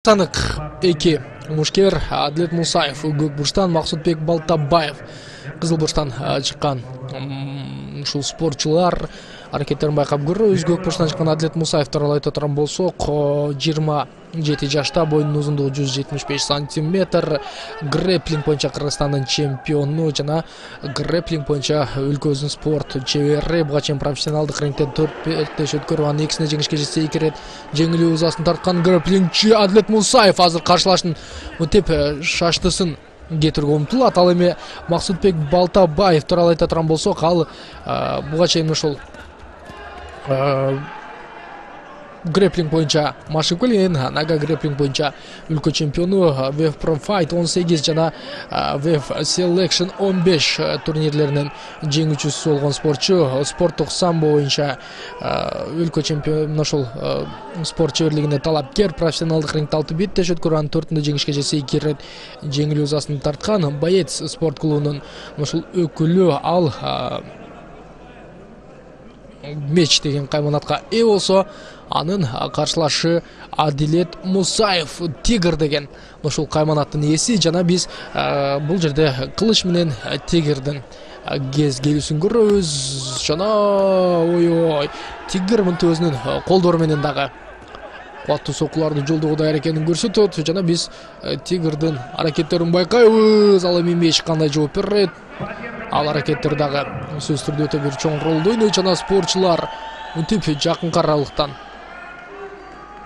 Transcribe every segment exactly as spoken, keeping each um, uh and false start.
Санык эки Мушкер, Адлет Мусаев, көк бурчтан Максутбек Балтабаев, кызыл бурчтан чыккан ушул спортчулар аракеттерин байкап көрөбүз. Көк бурчтан чыккан Адлет Мусаевди алайта турган болсок, жыйырма жети жашта, боюнун узундугу жүз жетимиш беш сантиметр, грэплинг боюнча Кыргызстандын чемпиону жана грэплинг боюнча өлкөбүздүн спорт чебери. Буга чейин профессионалдык рингте төрт беш өткөрүп, анын экисине жеңишке жетсе, эки ирет жеңилүү ызасын тарткан грэплингчи Адлет Мусаев азыр каршылаштын мынтип шаштысын кетирүүгө умтулат. Ал эми Максутбек Балтабаев тууралуу айта турган болсок, ал буга чейин ошол грэплинг боюнча машыгып келген, нага грэплинг боюнча өлкө чемпиону, веф Pro Fight он сегиз жана веф Selection он беш турнирлеринин жеңүүчүсү болгон спортчу. Спорттук самбо боюнча өлкө чемпиону, ошол спорт чеберлигине талапкер. Профессионалдык рингте алты беттеш өткөрүп, анын төртүндө жеңишке жетсе, эки ирет жеңилүү ызасын тарткан. Боец спорт клубунун ошол өкүлү. Ал меч деген кайманатка ээ болсо, анын каршылашы Адлет Мусаев, Тигр деген ошол кайманаттын ээси. Жана биз бул жерде кылыч менен Тигрдин кез келүүсүн көрөбүз. Жана ой-ой, Тигр мынтип өзүнүн колдору менен дагы кубаттуу соккуларды жолдоого даяр экенин көрсөтөт. Жана биз Тигрдин аракеттерин байкайбыз. Ал эми меч кандай жооп берет, ал аракеттер дагы сөзсүз түрдө өтө бир чоң ролду ойнойт. Жана спортчулар мынтип жакынкы аралыктан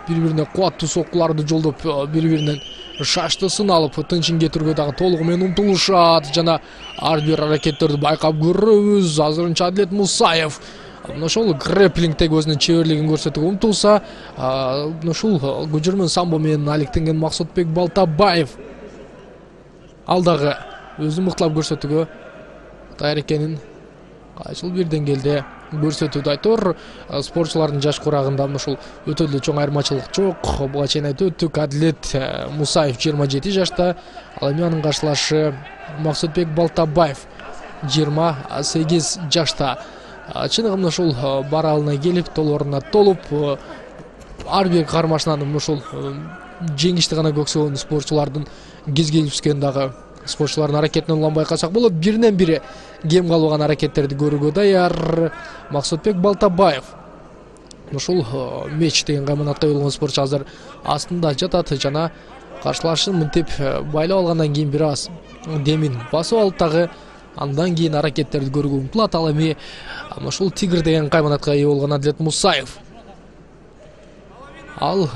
бири-бирине кубаттуу соккуларды жолдоп, бири-биринин шаштысын алып, тынчын кетирүүгө дагы толугу менен умтулушат. Жана ар бир аракеттерди байкап көрөбүз. Азырынча Адлет Мусаев ошол грэплингдеги өзүнүн чеберлигин көрсөтүүгө умтулса, ушул көчөрмөн самбо менен алектенген Максутбек Балтабаев ал дагы өзүн мыктылап көрсөтүүгө даяр экенин кайсыл бир деңгээлде көрсөтүүдө айтор. Спортчулардын жаш курагында ушул өтө эле чоң айырмачылык жок. Буга чейин айтып өттүк, Адлет Мусаев жыйырма жети жашта, ал эми анын каршылашы Максутбек Балтабаев жыйырма сегиз жашта. Чыныгы ушул баралына келип, толоруна толуп, ар бир кармашынан ушул жеңишти гана көксөгөн спортчулардын кез келишкен дагы спортчулардын аракетинен улам байкасак болот. Биринен бири кем калбаган аракеттерди көрүүгө даяр Максутбек Балтабаев. Ушул меч деген кайманатка болгон спортчу азыр астында жатат жана каршылашын мынтип байлап алгандан кийин бир аз демин басып алып дагы андан кийин аракеттерди көрүүгө умтулат. Ал эми ушул Тигр деген кайманатка ээ болгон Адлет Мусаев, ал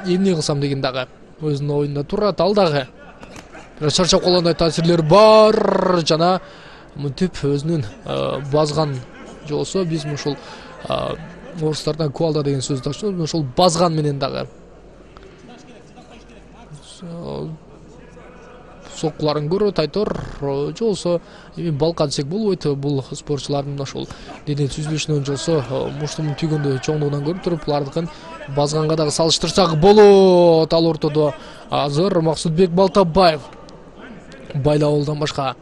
эмне кылсам деген дагы өзүнүн оюнда турат. Ал дагы чарчап калгандай таасирлер бар. Жана мынтип өзүнүн базган же болсо биз ушул орустардан куалда деген сөздү ачып, ошол базган менен дагы соккуларын көрөт айтор. Же болсо эми балка десек болбойт, бул спортчулардын ошол дене түзүлүшүнөн же болсо муштумун түйгөндө чоңдугунан көрүп туруп, булардыкын базганга дагы салыштырсак болот. Ал ортодо азыр Максутбек Балтабаев байлап алуудан башка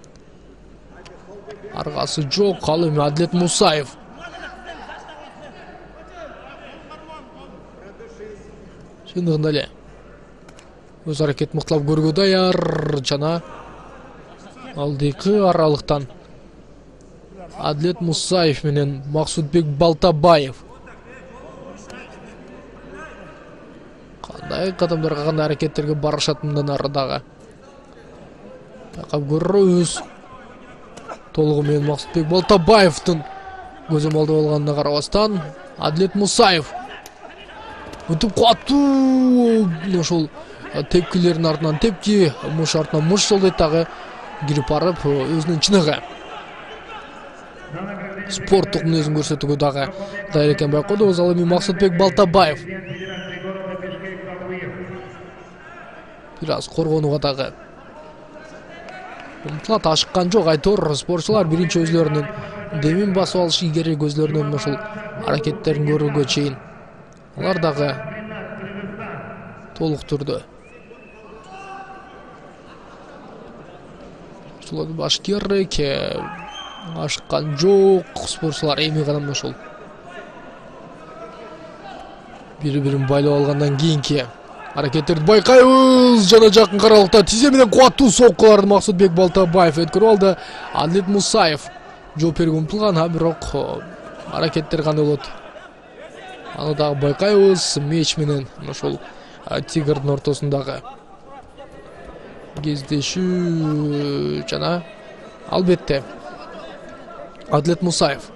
аргасы жок. Ал эми Адлет Мусаев чындыгында эле өз аракет мыктылап көрүүгө даяр. Жана алдыйкы аралыктан Адлет Мусаев менен Максутбек Балтабаев кандай кадамдарга, кандай аракеттерге барышат мындан ары дагы байкап көрөбүз. Толугу менен Максутбек Балтабаевдин көзөмөлдө болгонуна карабастан Адлет Мусаев мынтип кубаттуу ошол тепкилердин артынан тепки, муш артынан муш жолдойт дагы кирип барып, өзүнүн чыныгы спорттук мүнөзүн көрсөтүүгө дагы даяр экенин байкадыбыз. Ал эми Максутбек Балтабаев бир аз коргонууга дагы умтулат, ашыккан жок айтор. Спортчулар биринчи өзлөрүнүн демин басып алышы керек, өзлөрүнүн ушул аракеттерин көрүүгө чейин алар дагы толук түрдө баш керек. Ашыккан жок спортчулар. Эми гана ушул бири-бирин байлап алгандан кийинки Аракеттерди байкайбыз. Жана жакын каралыкта тизе менен кубаттуу соккуларды Максутбек Балтабаев өткөрүп алды. Адлет Мусаев жооп берүүгө умтулган, а бирок аракеттер кандай болот? Аны дагы байкайбыз. Меч менен ошол Тигрдин ортосундагы кездешүү жана албетте Адлет Мусаев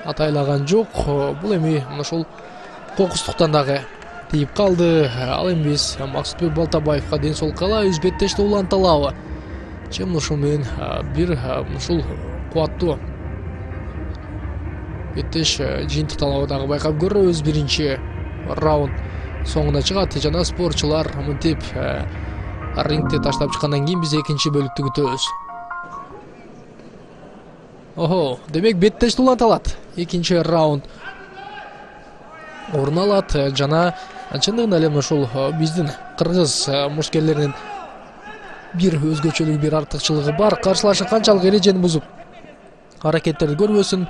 атайлаган жок. Бул эми ошол кокустуктан дагы тийип калды. Ал эми биз Максутбек Балтабаевга ден соолук каалайбыз. Беттеште уланталабы. Чем ушул менен бир ушул кубаттуу беттеш жыйынтыкталабы дагы байкап көрөбүз. Биринчи раунд соңуна чыгат жана спортчулар мынтип рингде таштап чыккандан кийин биз экинчи бөлүктү күтөбүз. Охо, демек беттеште уланталат. Экинчи раунд орун алат жана чындыгында эле ошол биздин кыргыз мушкерлеринин бир өзгөчөлүгү, бир артыкчылыгы бар. Каршылашы канчалык эрежени бузуп аракеттерди көрбөсүн,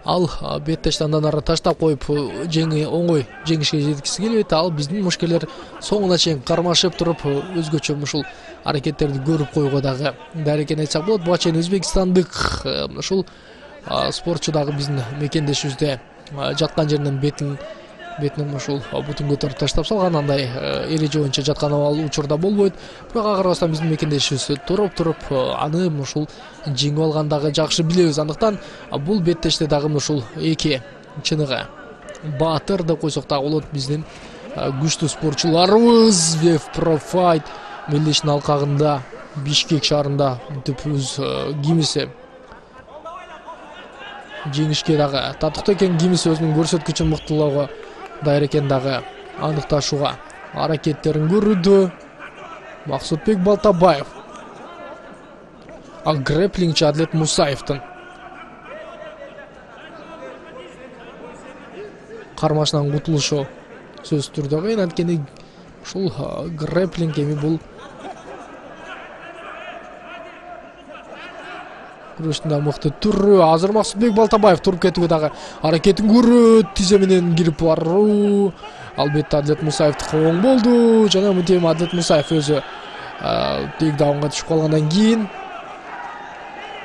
ал беттешти андан ары таштап коюп жеңи оңой жеңишке жеткиси келбейт. Ал биздин мушкерлер соңуна чейин кармашып туруп өзгөчө ушул аракеттерди көрүп коюуга дагы даяр экенин айтсак болот. Буга чейин өзбекстандык ушул спортчу дагы биздин мекендешибизде жаткан жеринен бетин бетинен ушул бутун көтөрүп таштап салган, андай эреже боюнча жаткан ал учурда болбойт. Бирок ага карабастан биздин мекендешибиз туруп туруп аны ушул жеңип алгандагы жакшы билебиз. Андыктан бул беттеште дагы ушул эки чыныгы баатыр деп койсок дагы болот. Биздин күчтүү спортчуларыбыз Вев Профайт мелдештин алкагында Бишкек шаарында мынтип өз кимиси жеңишке дагы татыктуу экен. Кимиси өзүнүн көрсөткүчүн мыктылоого даяр экен дагы аныкташууга аракеттерин көрүүдө Максутбек Балтабаев. А грэплингчи Адлет Мусаевдин кармашынан кутулушу сөзсүз түрдө кыйын. Анткени ушул грэплинг эми бул күрөштүн да мыкты түрү. Азыр Максутбек Балтабаев туруп кетүүгө дагы аракетин көрөт. Тизе менен кирип баруу. Албетте Адлет Мусаевдики оң болду. Жана мынтип Адлет Мусаев өзү тейкдаунга түшүп калгандан кийин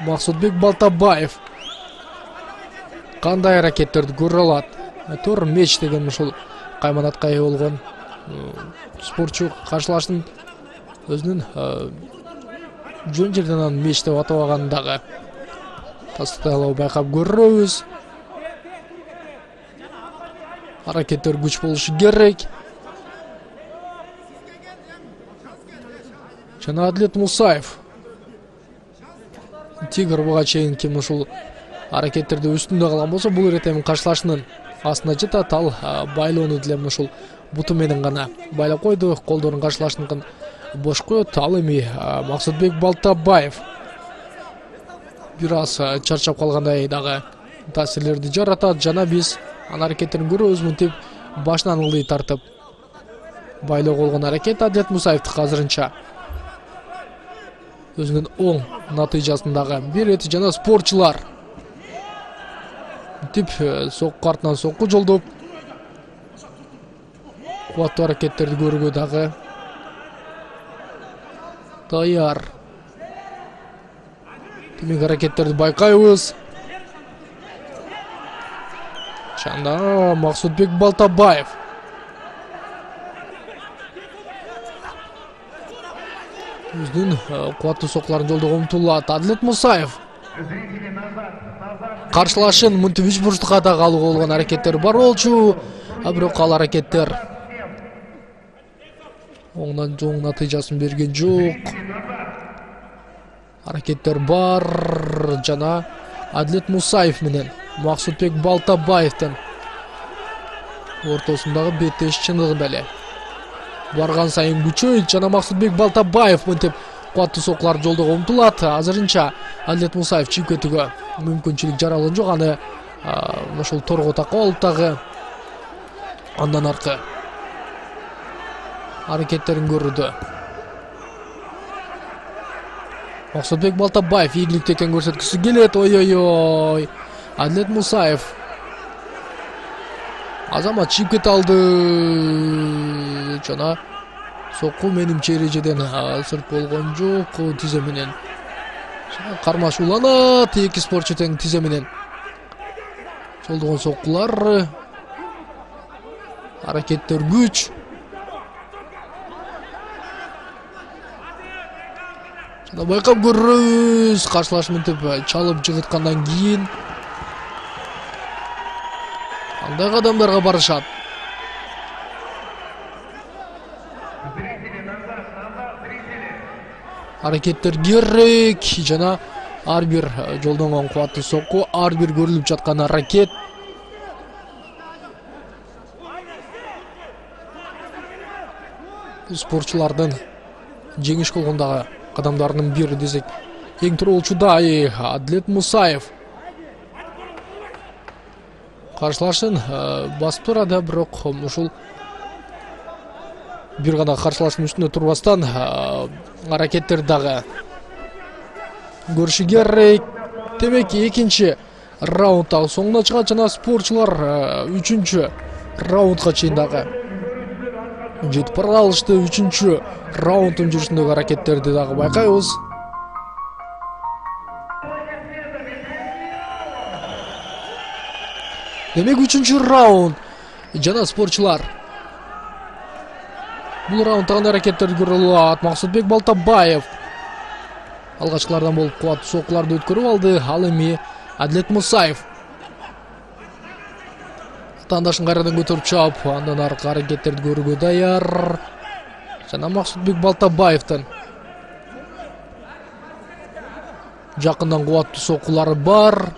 Максутбек Балтабаев кандай аракеттерди көрө алат? Тор меч деген ушул кайманатка ээ болгон спортчу каршылаштын өзүнүн жөн жерден анын меч деп атабаганын дагы тастыкталып байкап көрөбүз. Аракеттер күч болушу керек. Жана Адлет Мусаев Тигр буга чейин ким ушул аракеттерди үстүндө калган болсо, бул ирет эми каршылашынын астына жатат. Ал байлоону деле ушул буту менен гана байлап койду. Колдорун каршылаштыкын бош коет. Ал эми Максутбек Балтабаев бир аз чарчап калгандай дагы таасирлерди жаратат. Жана биз анын аракеттерин көрөбүз. Мынтип башынан ылдый тартып байлоо болгон аракет Адлет Мусаевдики азырынча өзүнүн оң натыйжасындагы берет. Жана спортчулар мынтип сокку артынан сокку жолдоп кубаттуу аракеттерди көрүүгө дагы даяр. Демек аракеттерди байкайбыз. Жана Максутбек Балтабаев өзүнүн кубаттуу соккуларын жолдоого умтулат. Адлет Мусаев каршылашын мынтип үч бурчтукка дагы алууга болгон аракеттери бар болчу. А бирок ал аракеттер оңдан жоң натыйжасын берген жок. Аракеттер бар. Жана Адлет Мусаев менен Максутбек Балтабаевдин ортосундагы беттеш чындыгында эле барган сайын күчөйт. Жана Максутбек Балтабаев мынтип кубаттуу соккуларды жолдоого умтулат. Азырынча Адлет Мусаев чыгып кетүүгө мүмкүнчүлүк жаралган жок. Аны ошол торго такап алып дагы андан аркы аракеттерин көрүүдө Максутбек Балтабаев ийгиликти экенин көрсөткүсү келет. Ой-ой-ой. Адлет Мусаев азамат чыгып кете алды. жана сокку менимче эрежеден сырт болгон жок. Тизе менен кармашууланат эки спортчу тең тизе менен. Жолдогон соккулар, аракеттер күч. Жана байкап көрөбүз, каршылаш мынтип чалып жыгыткандан кийин кандай кадамдарга барышат. Аракеттер керек жана ар бир жолдонгон кубаттуу сокку, ар бир көрүлүп жаткан аракет. Спортчулардын жеңиш болгондагы кадамдарынын бири десек эң тууралуучу дай Адилет Мусаев. Каршылашын басып турат, бирок ушул бир гана каршылаштын үстүнө турбастан аракеттер дагы көрүшү керек. Демек экинчи раунд дагы соңуна чыгат жана спортчулар үчүнчү раундга чейин дагы жетип бара алышты. Үчүнчү раунддун жүрүшүндөгү аракеттерди дагы байкайбыз. Демек үчүнчү раунд жана спортчулар бул раундда кандай аракеттерди көрө алат. Максутбек Балтабаев алгачкылардан болуп кубаттуу соккуларды өткөрүп алды. Ал эми Адилет Мусаев тандашын кайрадан көтөрүп чаап, андан аркы аракеттерди көрүүгө даяр. Жана Максутбек Балтабаевдин жакындан кубаттуу соккулары бар.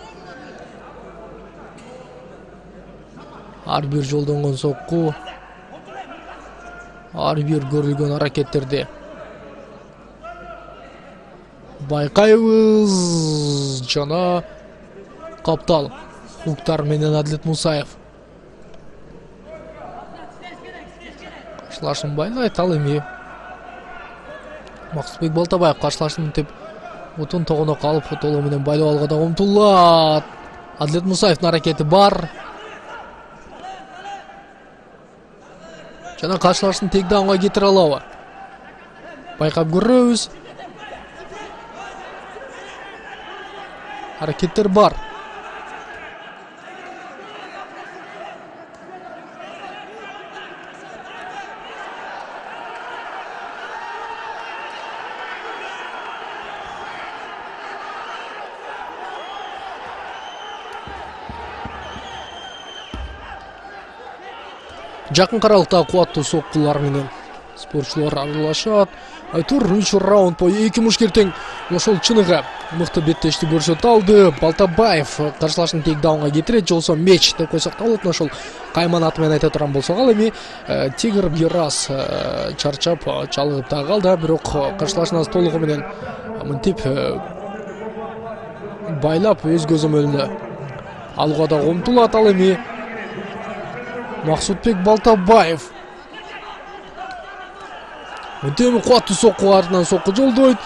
Ар бир жолдонгон сокку, ар бир көрүлгөн аракеттерди байкайбыз. Жана каптал хуктар менен Адилет Мусаев каршылашын байлайт. Ал эми Максутбек Балтабаев каршылашын деп бутун тогоно калып толо менен байлап алууга да умтулат. Адилет Мусаевдин аракети бар. Жана каршылашын тейкдаунга кетире алабы? Байкап көрөбүз. Аракеттер бар. Жакын каралыкта кубаттуу соккулар менен спортчулар аралашат. Айтур үч раунд бою эки мушкер тең ошол чыныгы мыкты беттешти көрсөтө алды. Балтабаев каршылашын тейкдаунга кетирет, жолсо меч деп койсок да болот. Ошол кайман аты менен айта турган болсок, ал эми Тигр бир аз чарчап чалгып да калды, бирок каршылашын аз толугу менен мынтип байлап өз көзөмөлүнө алууга да умтулат. Ал эми Максутбек Балтабаев мынтип кубаттуу сокку, артынан сокку жолдойт.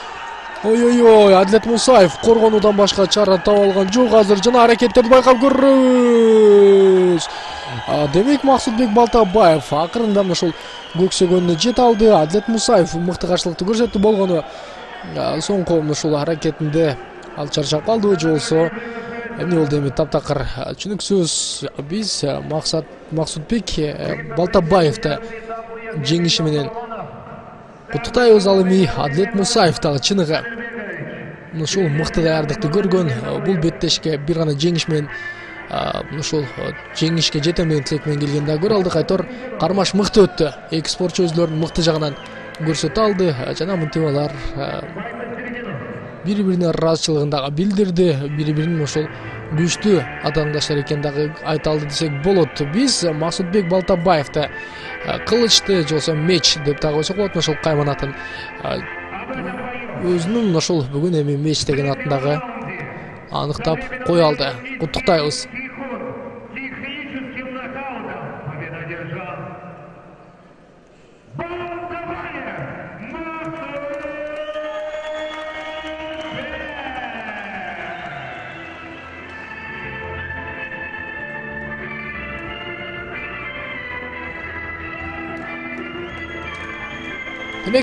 Ой-ой-ой, Адилет Мусаев коргонуудан башка чара таба алган жок азыр. Жана аракеттерди байкап көрөбүз. Демек Максутбек Балтабаев акырында ошол көксөгөнүнө жете алды. Адилет Мусаев мыкты каршылыкты көрсөттү болгону соңку ушул аракетинде ал чарчап калды. Жолсо эмне болду эми? Таптакыр түшүнүксүз. Биз максат Максутбек Балтабаевди жеңиши менен куттуктайбыз. Ал эми Адилет Мусаев дагы чыныгы ушул мыкты даярдыкты көргөн. Бул беттешке бир гана жеңиш менен ушул жеңишке жетем деген тилек менен келген да көрө алдык. Айтор кармаш мыкты өттү. Эки спортчу өзлөрүнүн мыкты жагынан көрсөтө алды. Жана мынтип алар бири-бирине ыраазычылыгын дагы билдирди. Бири-биринин ошол күчтүү атаандаштар экенин дагы айта алды десек болот. Биз Максутбек Балтабаевди кылычты, жолсо меч деп дагы койсок болот. Ошол кайман атын өзүнүн ошол бүгүн эми меч деген атын дагы аныктап кое алды. Куттуктайбыз.